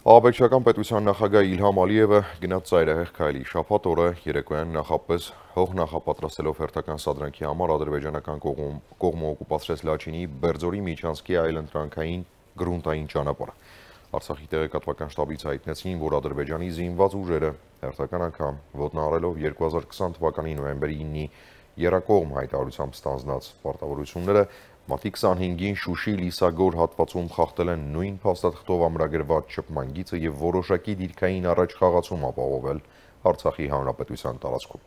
Աբեկչական պետության նախագահ Իլհամ Ալիևը գնաց ծայրահեղ քայլի շաբաթ օրը երեկոյան նախապես հող նախապատրաստելով հերթական սադրանքի համար ադրբեջանական կողմը օկուպացրեց Լաչինի Բերձորի միջանցքի այլընտրանքային գրունտային ճանապարհը։ Արցախի տեղեկատվական շտաբից հայտնեցին, որ Ադրբեջանի զինված ուժերը հերթական անգամ ոտնահարելով 2020 թվականի նոյեմբերի 9-ի եռակողմ հայտարարությամբ ստանձնած պարտավորությունները մարտի 25-ին Շուշի Լիսագոր հատվածում խախտել են նույն փաստաթղթով ամրագրված շփման գիծը եւ որոշակի դիրքային առաջխաղացում ապահովել Արցախի հանրապետության տարածքում։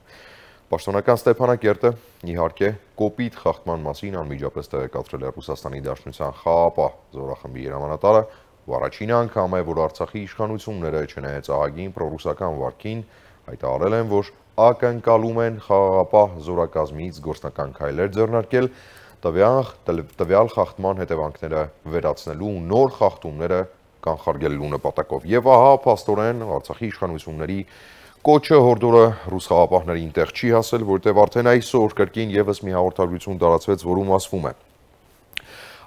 Պաշտոնական Ստեփանակերտը իհարկե կոպիտ խախտման մասին անմիջապես տեղեկացրել է Ռուսաստանի Դաշնության Խաղապահ զորախմբի հրամանատարը, ու առաջին անգամ է, որ Արցախի իշխանությունները չնայած ահագին պրոռուսական վարքին հայտարարել են, որ ակնկալում են Խաղապահ զորակազմից գործնական քայլեր ձեռնարկել տվյալ խախտման հետևանքները վերացնելու ու նոր խախտումները կանխարգելելու նպատակով։ Եվ ահա փաստորեն Արցախի իշխանությունների կոչը հորդորը ռուս խաղապահներին տեղ չի հասել, որտեղ արդեն այսօր կրկին եւս մի հաղորդագրություն տարածվեց, որում ասվում է.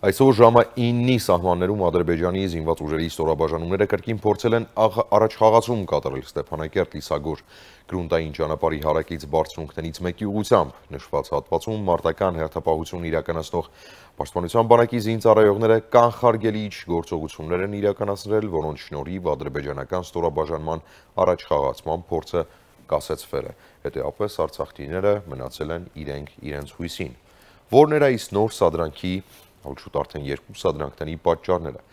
Այսօր ժամը 9-ի սահմաններում Ադրբեջանի զինված ուժերի ստորաբաժանումները կրկին փորձել են առաջխաղացում կատարել Ստեփանակերտ-Լիսագոր գրունտային ճանապարհի հարակից բարձունքներից մեկի ուղղությամբ։ Նշված հատվածում մարտական հերթապահություն իրականացնող Պաշտպանության բանակի զինծառայողները կանխարգելիչ գործողություններ են իրականացրել, որոնց շնորհիվ ադրբեջանական ստորաբաժանման առաջխաղացման փորձը կասեցվել է։ Հետևաբար արցախցիները մնացել են իրենց հույսին։ Որն էր այս նոր սադրանքի շուտ արդեն երկու սադրանքների պատճառները։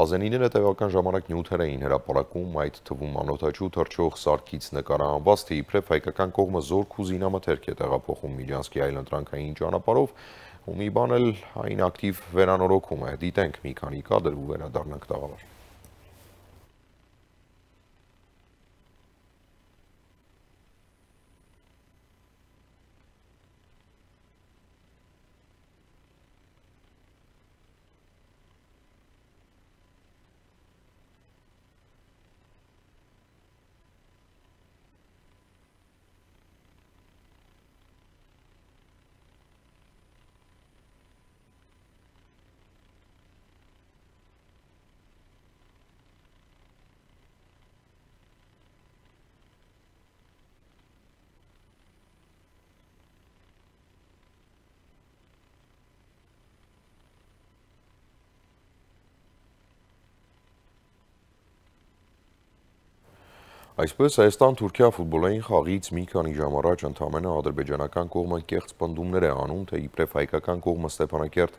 Ազենիները տեղական ժամանակ նյութեր էին հրապարակում, այդ թվում անօթաչու թռչող սարքից նկարահանված, թե իբրև հայկական կողմը զորք ու զինամթերք է տեղափոխում Միջանցքի այլընտրանքային ճանապարհով, ու մի բան էլ այն ակտիվ վերանորոգում է։ Դիտենք մի քանի կադր ու վերադառնանք տաղավար։ Այսպես Հայաստան-Թուրքիա ֆուտբոլային խաղից մի քանի ժամ առաջ ընդամենը ադրբեջանական կողմը կեղծ պնդումներ է անում, թե իբրև հայկական կողմը Ստեփանակերտ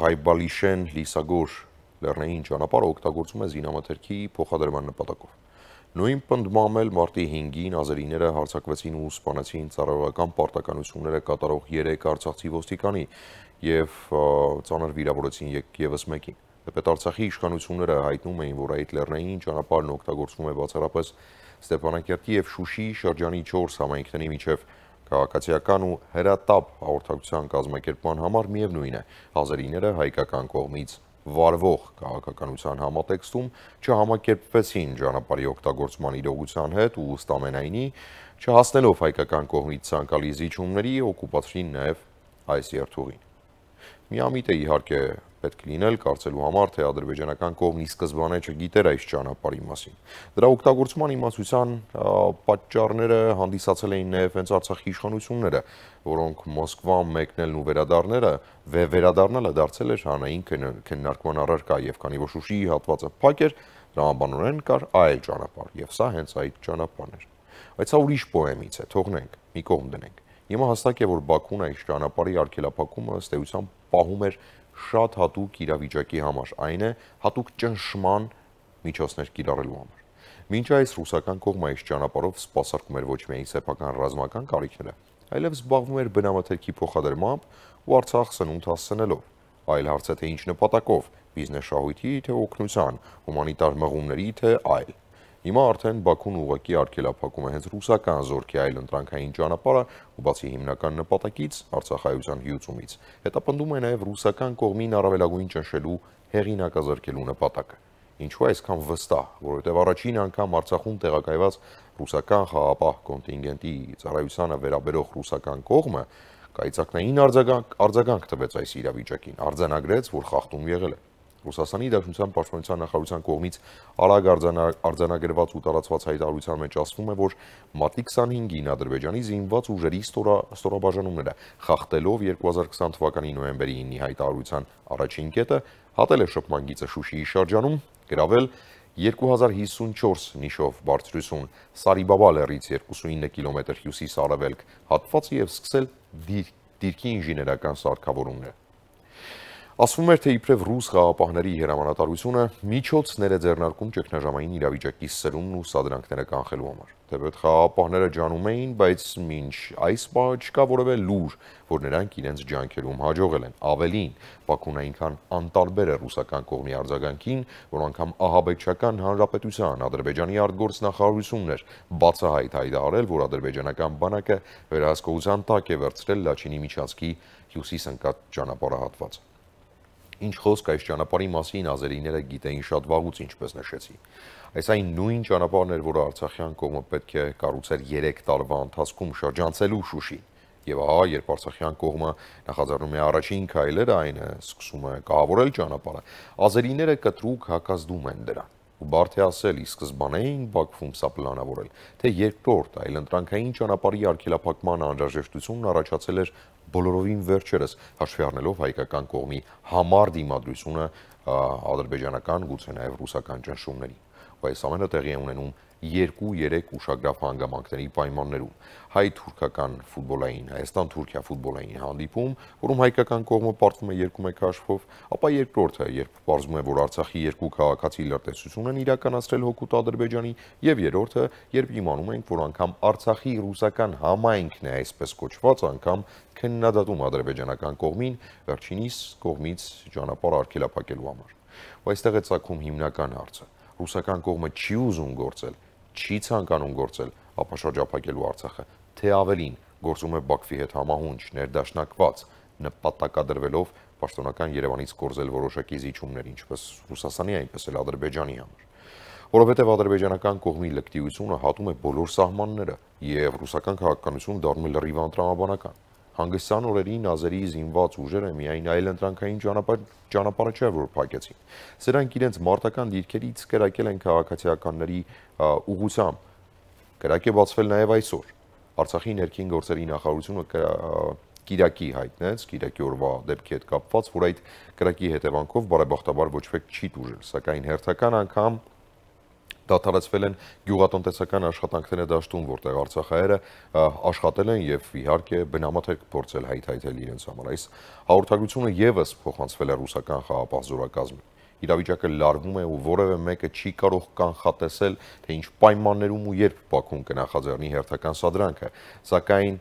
Ղայբալիշեն Լիսագոր լեռնային ճանապարհը օգտագործում է զինամթերքի փոխադրման նպատակով։ Նույն պնդմամբ էլ մարտի 5-ին ազերիները հարձակվեցին ու սպանեցին ծառայողական պարտականությունները կատարող 3 արցախցի ոստիկանի եւ ծանր վիրավորեցին եւս մեկին։ Թեպետ Արցախի իշխանությունները հայտնում էին, որ այդ լեռնային ճանապարհն օգտագործվում է բացառապես Ստեփանակերտի եւ Շուշի շրջանի 4 համայնքների միջև քաղաքացիական ու հրատապ հաղորդակցության կազմակերպման համար միևնույն է, ազերիները հայկական կողմից վարվող քաղաքականության համատեքստում չհամակերպվեցին ճանապարհի օգտագործման իրողության հետ ու ըստ ամենայնի չհասնելով հայկական կողմից ցանկալի զիջումների օկուպացրին նաեւ այս երթուղին։ Միամիտ է իհարկե պետք լինել կարծելու համար, թե ադրբեջանական կողմն ի սկզբանե չգիտեր այս ճանապարհի մասին։ Դրա օգտագործման իմացության պատճառները հանդիսացել էին նաև հենց Արցախի իշխանությունները, որոնք Մոսկվան մեկնելն ու վերադառնալը դարձել էր հանրային քննարկման առարկա, եւ քանի որ Շուշիի հատվածը փակ էր, դրամաբանորեն կար այլ ճանապարհ, եւ սա հենց այդ ճանապարհն էր։ Բայց սա ուրիշ պոեմից է, թողնենք, մի կողմ դնենք։ Հիմա հստակ է, որ Բաքուն այս ճանապարհի արգելափակումը ըստ էության պահում էր շատ հատուկ իրավիճակի համար, այն է հատուկ ճնշման միջոցներ կիրառելու համար։ Մինչ այս ռուսական կողմը այս ճանապարհով սպասարկում էր ոչ միայն սեփական ռազմական կարիքները, այլև զբաղվում էր բնամթերքի փոխադրմամբ ու Արցախ սնունդ հասցնելով։ Այլ հարց է, թե ինչ նպատակով՝ բիզնես շահույթի, թե օգնության, հումանիտար մղումների, թե այլ։ Հիմա արդեն Բաքուն ուղղակի արգելափակում է հենց ռուսական զորքի այլընտրանքային ճանապարհը ու բացի հիմնական նպատակից Արցախայության հյուծումից, հետապնդում է նաև ռուսական կողմին առավելագույն ճնշելու հեղինակազրկելու նպատակը։ Ինչու այսքան վստահ, որովհետև առաջին անգամ Արցախում տեղակայված ռուսական խաղապահ կոնտինգենտի ծառայությանը վերաբերող ռուսական կողմը կայծակնային արձագանք տվեց այս իրավիճակին, արձանագրեց, որ խախտում եղել է։ Ռուսաստանի Դաշնության պաշտպանության նախարարության կողմից արագ արձանագրված ու տարածված հայտարարության մեջ ասվում է, որ մարտի 25-ին Ադրբեջանի զինված ուժերի ստորաբաժանումները խախտելով 2020 թվականի նոյեմբերի 9-ի հայտարարության առաջին կետը հատել է շփման գիծը Շուշիի շրջանում, գրավել 2054 նիշով բարձրություն Սարիբաբա լեռից 29 կիլոմետր հյուսիս-արևելք հատվածը եւ սկսել դիրքի ինժեներական սարքավորումներ։ Ասվում էր, թե իբրև ռուս խաղապահների հրամանատարությունը միջոցներ է ձեռնարկում ճգնաժամային իրավիճակի սրումն ու սադրանքները կանխելու համար։ Թեպետ խաղապահները ջանում էին, բայց մինչ այս պահը չկա որևէ լուր, որ նրանք իրենց ջանքերում հաջողել են։ Ավելին, Բաքուն այնքան անտարբեր է ռուսական կողմի արձագանքին, որ անգամ ահաբեկչական հանրապետության Ադրբեջանի արտգործնախարարությունն էր բացահայտ հայտարարել, որ ադրբեջանական բանակը վերահսկողության տակ է վերցրել Լաչինի միջանցքի հյուսիս ընկած ճանապարհահատվածը։ Ինչ խոսք այս ճանապարհի մասին ազերիները գիտեին շատ վաղուց, ինչպես նշեցի։ Այս այն նույն ճանապարհն էր, որը արցախյան կողմը պետք է կառուցեր 3 տարվա ընթացքում շրջանցելու Շուշին։ Եվ ահա, երբ արցախյան կողմը նախաձեռնում է առաջին քայլերը, այն է սկսում է կահավորել ճանապարհը, ազերիները կտրուկ հակազդում են դրան։ Ու բարդ է ասել, ի սկզբանե էին Բաքվում սա պլանավորել, թե երկրորդ այլընտրանքային ճանապարհի արգելափակման անհրաժեշտությունն առաջացել էր բոլորովին վերջերս, հաշվի առնելով հայկական կողմի համառ դիմադրությունը ադրբեջանական, գուցե նաև ռուսական ճնշումներին։ Ու այս ամենը տեղի է ունենում 2-3 ուշագրավ հանգամանքների պայմաններում։ Հայ-թուրքական ֆուտբոլային, Հայաստան-Թուրքիա ֆուտբոլային հանդիպում, որում հայկական կողմը պարտվում է 2-1 հաշվով, ապա երկրորդը, երբ պարզվում է, որ Արցախի երկու քաղաքացի լրտեսություն են իրականացրել հօգուտ Ադրբեջանի, եւ երրորդը, երբ իմանում ենք, որ անգամ Արցախի ռուսական համայնքն է այսպես կոչված անգամ քննադատում ադրբեջանական կողմին, վերջինիս կողմից ճանապարհ արգելափակելու համար։ Ու այստեղ է ծագում հիմնական հարցը։ Ռուսական կողմը չի ուզում գործել, չի ցանկանում գործել ապաշրջափակելու Արցախը, թե ավելին գործում է Բաքվի հետ համահունչ, ներդաշնակված, նպատակադրվելով պաշտոնական Երևանից կորզել որոշակի զիջումներ, ինչպես Ռուսաստանի, այնպես էլ Ադրբեջանի համար։ Որովհետև ադրբեջանական կողմի լկտիությունը հատում է բոլոր սահմանները, եւ ռուսական քաղաքականությունը դառնում է լրիվ անտրամաբանական։ Հանգստյան օրերին ազերի զինված ուժերը միայն այլընտրանքային ճանապարհը չէ, որ փակեցին։ Սրանք իրենց մարտական դիրքերից կրակել են քաղաքացիականների ուղղությամբ։ Կրակ է բացվել նաև այսօր։ Արցախի ներքին գործերի նախարարությունը Կիրակի հայտնեց, Կիրակի օրվա դեպքի հետ կապված, որ այդ կրակի հետևանքով բարեբախտաբար ոչ մեկ չի տուժել, սակայն հերթական անգամ դադարեցվել են գյուղատնտեսական աշխատանքները դաշտում, որտեղ արցախահայերը աշխատել են եւ իհարկե բնամաթերք փորձել հայթայթել իրենց համար։ Այս հաղորդագրությունը եւս փոխանցվել է ռուսական խաղապահ զորակազմին։ Իրավիճակը լարվում է ու որևէ մեկը չի կարող կանխատեսել, թե ինչ պայմաններում ու երբ Բաքուն կնախաձեռնի հերթական սադրանքը, սակայն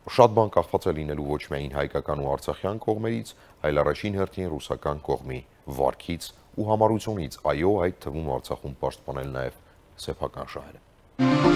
շատ բան կախված է լինելու ոչ միայն հայկական ու արցախյան կողմերից, այլ առաջին հերթին ռուսական կողմի վարքից ու համառությունից, այո, այդ թվում Արցախում պաշտպանել նաև սեփական շահերը։